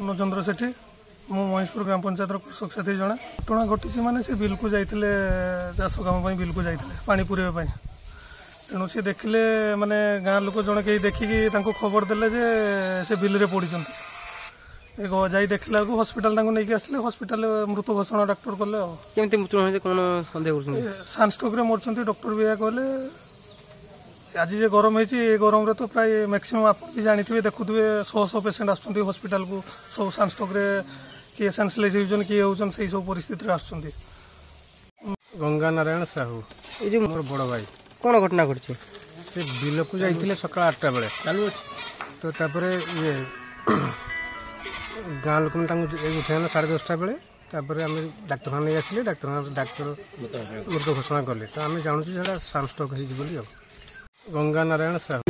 ପୂର୍ଣ୍ଣଚନ୍ଦ୍ର ସେଠୀ, ମୁଁ ମହେଶପୁର ଗ୍ରାମ ପଞ୍ଚାୟତର କୃଷକ ସାଥୀ ଜଣେ। ଘଟଣା ଘଟିଛି ମାନେ ସେ ବିଲକୁ ଯାଇଥିଲେ, ଚାଷ କାମ ପାଇଁ ବିଲକୁ ଯାଇଥିଲେ ପାଣି ପୁରେଇବା ପାଇଁ। ତେଣୁ ସେ ଦେଖିଲେ, ମାନେ ଗାଁ ଲୋକ ଜଣେ କେହି ଦେଖିକି ତାଙ୍କୁ ଖବର ଦେଲେ ଯେ ସେ ବିଲରେ ପଡ଼ିଛନ୍ତି। ଏ ଯାଇ ଦେଖିଲା ବେଳକୁ ହସ୍ପିଟାଲ ତାଙ୍କୁ ନେଇକି ଆସିଲେ, ହସ୍ପିଟାଲରେ ମୃତ ଘୋଷଣା ଡାକ୍ତର କଲେ। ଆଉ କେମିତି ମୃତ୍ୟୁ ହୋଇଛି, କ'ଣ ସନ୍ଦେହ କରୁଛନ୍ତି? ସାନଷ୍ଟ୍ରୋକରେ ମରିଛନ୍ତି, ଡକ୍ଟର ବି ଏହା କହିଲେ। ଆଜି ଯେ ଗରମ ହେଇଛି, ଏ ଗରମରେ ତ ପ୍ରାୟ ମ୍ୟାକ୍ସିମମ୍ ଆପଣ ବି ଜାଣିଥିବେ, ଦେଖୁଥିବେ, ଶହ ଶହ ପେସେଣ୍ଟ ଆସୁଛନ୍ତି ହସ୍ପିଟାଲକୁ, ସବୁ ସାନଷ୍ଟ୍ରୋକରେ, କିଏ ସେନ୍ସଲେସ୍ ହେଉଛନ୍ତି, କିଏ ହେଉଛନ୍ତି, ସେଇ ସବୁ ପରିସ୍ଥିତିରେ ଆସୁଛନ୍ତି। ଗଙ୍ଗା ନାରାୟଣ ସାହୁ। ଏଇ ଯୋଉ ମୋର ବଡ଼ ଭାଇ। କ'ଣ ଘଟଣା ଘଟିଛି? ସେ ବିଲକୁ ଯାଇଥିଲେ ସକାଳ 8ଟା ବେଳେ ତ, ତାପରେ ଇଏ ଗାଁ ଲୋକମାନେ ତାଙ୍କୁ ଉଠେଇ ଆଣିଲେ 10:30 ବେଳେ। ତାପରେ ଆମେ ଡାକ୍ତରଖାନା ନେଇ ଆସିଲେ, ଡାକ୍ତରଖାନା ଡାକ୍ତର ମୃତ ଘୋଷଣା କଲେ। ତ ଆମେ ଜାଣୁଛୁ ସେଇଟା ସାନଷ୍ଟ୍ରୋକ୍ ହେଇଛି ବୋଲି। ଆଉ ଗଙ୍ଗା ନାରାୟଣ ସାହୁ।